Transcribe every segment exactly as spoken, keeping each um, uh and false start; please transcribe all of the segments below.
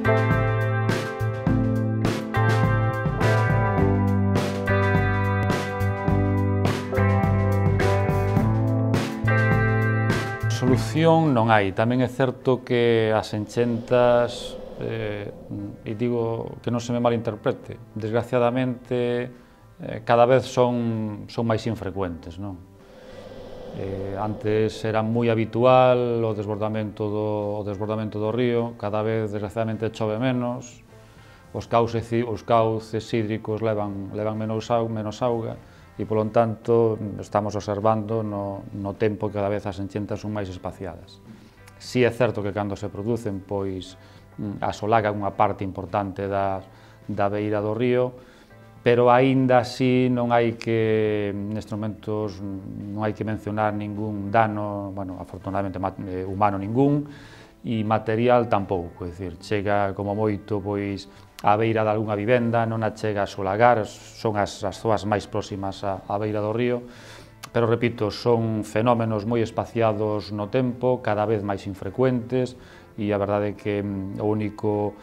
Solución non hai. Tamén é certo que as enchentas, eh, e digo que non se me malinterprete, desgraciadamente eh, cada vez son, son máis infrecuentes, non? Eh, antes era moi habitual o desbordamento do, o desbordamento do río, cada vez desgraciadamente chove menos, os cauces, os cauces hídricos levan, levan menos, menos auga, e, polo tanto, estamos observando no, no tempo que cada vez as enchentas son máis espaciadas. Si é certo que cando se producen, pois, asolagan unha parte importante da, da beira do río, pero aínda así non hai que, nestes momentos, non hai que mencionar ningún dano, bueno, afortunadamente humano ningún, e material tampouco, é dicir, chega como moito, pois, á beira de algunha vivenda, non a chega a solagar, son as, as zoas máis próximas á, á beira do río, pero, repito, son fenómenos moi espaciados no tempo, cada vez máis infrecuentes, e a verdade é que o único,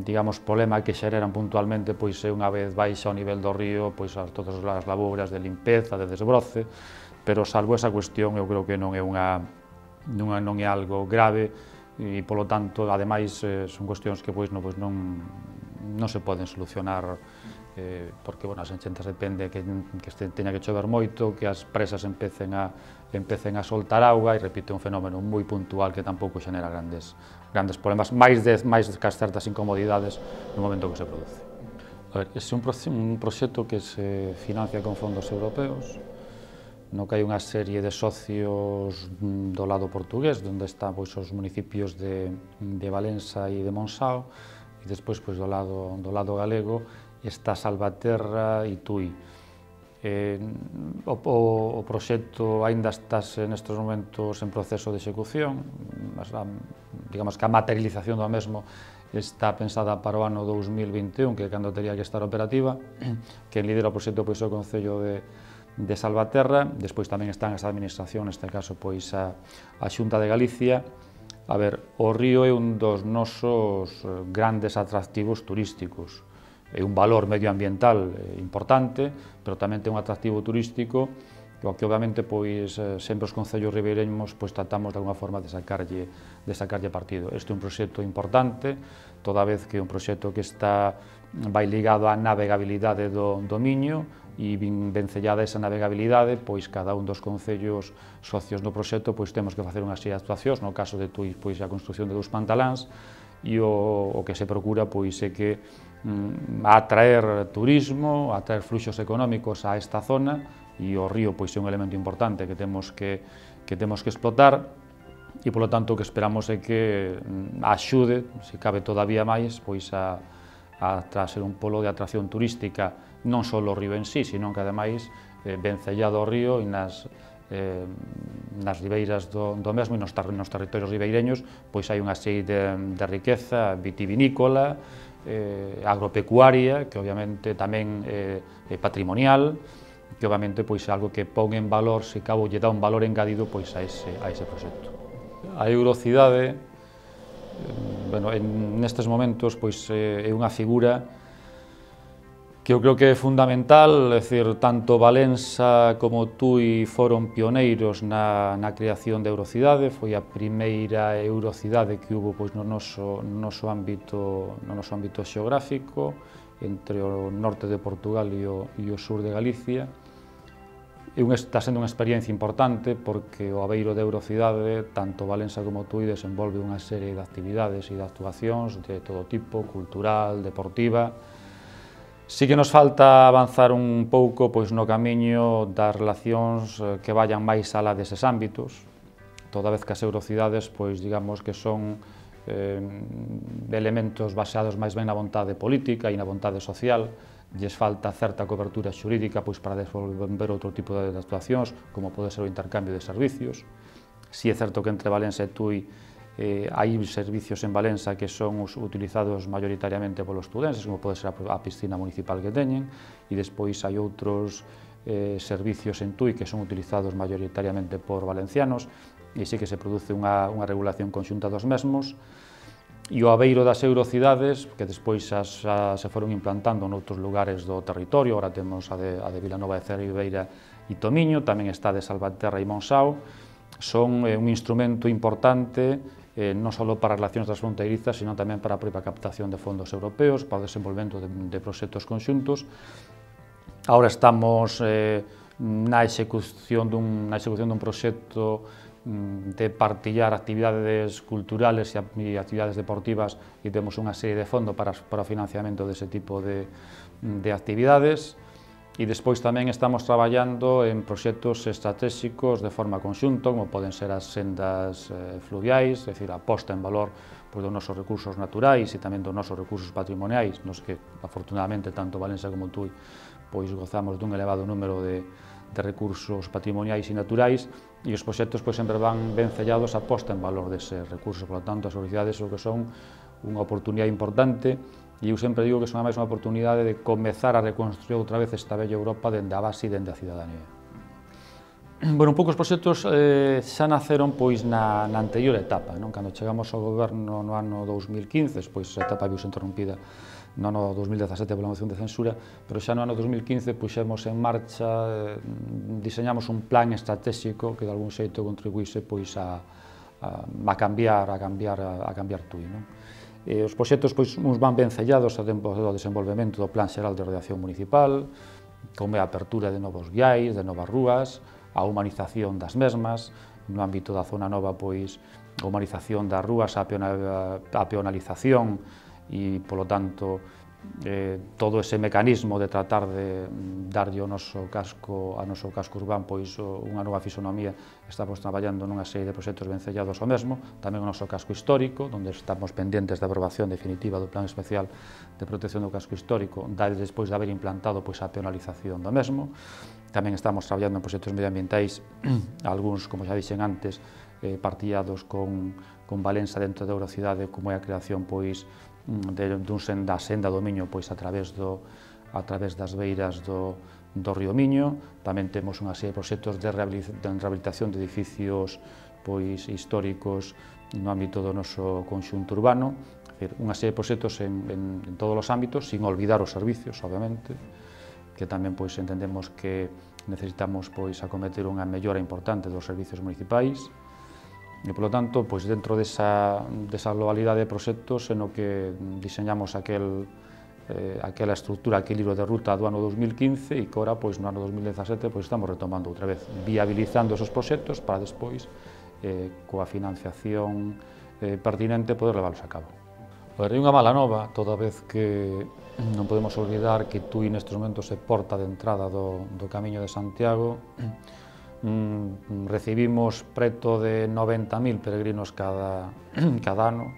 digamos, problema que xereran puntualmente, pois é unha vez baixa o nivel do río, pois as, todas as labouras de limpeza, de desbroce, pero salvo esa cuestión eu creo que non é unha, non é, non é algo grave, e, polo tanto, ademais, eh, son cuestións que pois, non, pois, non, non se poden solucionar, eh, porque, bueno, as enchentas depende que, que este, teña que chover moito, que as presas empecen a, empecen a soltar auga, e, repito, é un fenómeno moi puntual que tampouco xenera grandes, grandes problemas, máis, de, máis que as certas incomodidades no momento que se produce. A ver, ese é un, un proxecto que se financia con fondos europeos, no que hai unha serie de socios do lado portugués, onde están pois, os municipios de, de Valença e de Monsao, e despois pois, do, lado, do lado galego está Salvaterra e Tui. Eh, o, o, o proxecto aínda está nestes momentos en proceso de execución, mas, a, digamos que a materialización do mesmo está pensada para o ano dous mil vinte e un, que é cando teria que estar operativa. Quen lidera o proxecto pois, é o Concello de de Salvaterra, despois tamén están as administracións, neste caso pois a, a Xunta de Galicia. A ver, o río é un dos nosos grandes atractivos turísticos, é un valor medioambiental importante, pero tamén ten un atractivo turístico, o que obviamente pois sempre os concellos ribeireños pois tratamos de alguna forma de sacarlle, de sacarlle partido. Este é un proxecto importante, toda vez que é un proxecto que está vai ligado á navegabilidade do, do Miño, e vencellada esa navegabilidade, pois cada un dos concellos socios do proxecto pois temos que facer unha serie de actuacións, no caso de Tui, pois a construción de dous pantaláns, e o, o que se procura pois é que mm, atraer turismo, atraer fluxos económicos a esta zona, e o río pois é un elemento importante que temos que, que temos que explotar, e polo tanto o que esperamos é que mm, axude, se cabe todavía máis, pois a, a ser un polo de atracción turística non só o río en sí, sino que ademais eh, vencellado ao río e nas, eh, nas ribeiras do, do mesmo e nos, nos territorios ribeireños pois hai unha serie de, de riqueza vitivinícola, eh, agropecuaria, que obviamente tamén eh, é patrimonial, que obviamente pois é algo que pon en valor, se cabo lle dá un valor engadido pois a ese, a ese proxecto. A eurocidade, eh, bueno, en nestes momentos pois é unha figura que eu creo que é fundamental, é dicir, tanto Valença como Tui foron pioneiros na, na creación de eurocidade, foi a primeira eurocidade que hubo pois, no, noso, no, noso ámbito, no noso ámbito xeográfico, entre o norte de Portugal e o, e o sur de Galicia. E un, está sendo unha experiencia importante porque o abeiro de eurocidade, tanto Valença como Tui, desenvolve unha serie de actividades e de actuacións de todo tipo, cultural, deportiva. Si que nos falta avanzar un pouco pois, no camiño das relacións que vayan máis alá deses ámbitos, toda vez que as eurocidades, pois, digamos que son eh, elementos baseados máis ben na vontade política e na vontade social, lles falta certa cobertura xurídica pois, para desenvolver outro tipo de actuacións, como pode ser o intercambio de servicios. Si é certo que entre Valença e Tui Eh, hai servicios en Valença que son os utilizados maioritariamente polos estudenses, como pode ser a piscina municipal que teñen, e despois hai outros eh, servicios en Tui que son utilizados maioritariamente por valencianos, e sí que se produce unha, unha regulación conxunta dos mesmos. e o Aveiro das Eurocidades, que despois xa, xa se foron implantando noutros lugares do territorio. Agora temos a de, a de Vilanova de Cerveira e Tomiño, tamén está de Salvaterra e Monsao. Son eh, un instrumento importante eh, non só para as relacións transfronteirizas, sino tamén para a propia captación de fondos europeos, para o desenvolvemento de, de proxectos conxuntos. Agora estamos eh, na execución dun, na execución dun proxecto de partillar actividades culturales e actividades deportivas, e temos unha serie de fondos para, para o financiamento dese tipo de, de actividades. E despois tamén estamos traballando en proxectos estratégicos de forma conxunta, como poden ser as sendas eh, fluviais, é dicir, a posta en valor pois, dos nosos recursos naturais e tamén dos nosos recursos patrimoniais, nos que, afortunadamente, tanto Valencia como Tui pois, gozamos dun elevado número de, de recursos patrimoniais e naturais, e os proxectos pois, sempre van ben sellados a posta en valor deses recursos. Por lo tanto, as universidades o que son unha oportunidade importante, e eu sempre digo que son máis unha oportunidade de comezar a reconstruir outra vez esta bella Europa dende a base e dende a cidadanía. Bueno, un pouco os proxectos eh, xa naceron pois, na, na anterior etapa, non? Cando chegamos ao goberno no ano dous mil quince, pois a etapa viuse interrompida no ano dous mil dezasete pola moción de censura, pero xa no ano dous mil quince puxemos en marcha, eh, diseñamos un plan estratégico que de algún xeito contribuíse pois, a, a, a cambiar, a cambiar, a, a cambiar Tui, non? E os proxectos pois, uns van ben sellados a tempo do desenvolvemento do Plan Xeral de Ordenación Municipal, como a apertura de novos viais, de novas rúas, a humanización das mesmas, no ámbito da zona nova, pois, a humanización das rúas, a, peona, a peonalización e, polo tanto, eh, todo ese mecanismo de tratar de darlle ao noso casco, ao noso casco urbán, pois, unha nova fisonomía. Estamos traballando nunha serie de proxectos ben sellados ao mesmo, tamén o noso casco histórico, onde estamos pendentes da aprobación definitiva do Plan Especial de Protección do Casco Histórico, despois de haber implantado pois, a peonalización do mesmo. Tamén estamos traballando en proxectos medioambientais, algúns, como xa dixen antes, eh, partillados con, con Valença dentro da Eurocidade, como é a creación pois, de, dun senda, senda do Miño pois, a, través do, a través das beiras do, do río Miño. Tamén temos unha serie de proxectos de rehabilitación de edificios pois, históricos no ámbito do noso conxunto urbano, é dicir, unha serie de proxectos en, en, en todos os ámbitos, sin olvidar os servicios, obviamente, que tamén pois, entendemos que necesitamos pois, acometer unha mellora importante dos servicios municipais, e, polo tanto, pois, dentro desa, desa globalidade de proxectos en o que diseñamos aquel, eh, aquela estructura, aquel libro de ruta do ano dous mil quince, e que ora, pois, no ano dous mil dezasete, pois, estamos retomando outra vez, viabilizando esos proxectos para despois, eh, coa financiación eh, pertinente, poder leválos a cabo. Pois, hai unha mala nova, toda vez que non podemos olvidar que Tui nestes momentos é porta de entrada do, do Camiño de Santiago. Mm, recibimos preto de noventa mil peregrinos cada, cada ano,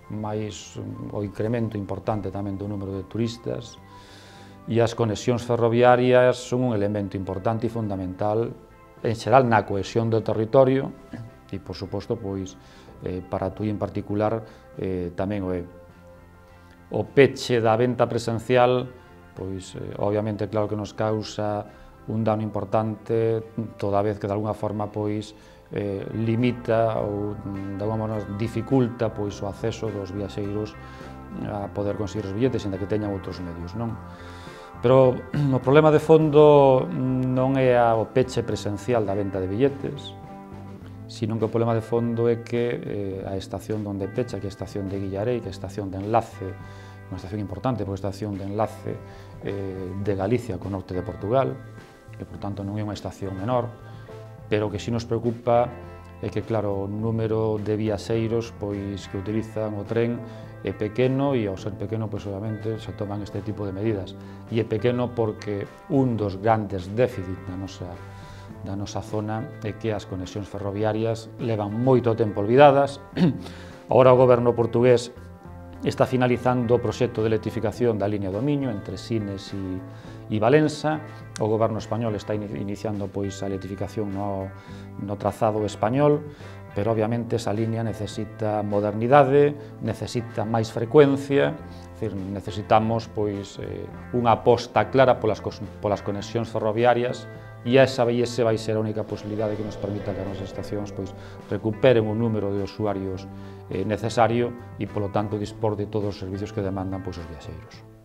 máis o incremento importante tamén do número de turistas, e as conexións ferroviarias son un elemento importante e fundamental en xeral na cohesión do territorio e, por suposto, pois, eh, para Tui en particular eh, tamén o é. O peche da venta presencial, pois, eh, obviamente, claro que nos causa un dano importante, toda vez que de alguna forma pois, eh, limita ou de alguma maneira dificulta pois, o acceso dos viaxeiros a poder conseguir os billetes, ainda que teñan outros medios, non? Pero o problema de fondo non é o peche presencial da venta de billetes, sino que o problema de fondo é que eh, a estación onde pecha, que é a estación de Guillarei, que é a estación de enlace, unha estación importante, porque é a estación de enlace eh, de Galicia co norte de Portugal, que, por tanto, non é unha estación menor, pero que si nos preocupa é que, claro, o número de viaxeiros pois, que utilizan o tren é pequeno, e ao ser pequeno, pois, obviamente, se toman este tipo de medidas. E é pequeno porque un dos grandes déficits da nosa, da nosa zona é que as conexións ferroviarias levan moito tempo olvidadas. Agora o goberno portugués está finalizando o proxecto de electrificación da liña do Miño entre Sines e, e Valença. O goberno español está iniciando pois, a electrificación no, no trazado español, pero obviamente esa liña necesita modernidade, necesita máis frecuencia, é dicir, necesitamos pois, eh, unha aposta clara polas, polas conexións ferroviarias e esa vai, ese vai ser a única posibilidade que nos permita que as nosas estacións pois, recuperen o número de usuarios eh, necesario e, polo tanto, dispor de todos os servicios que demandan pois, os viaxeiros.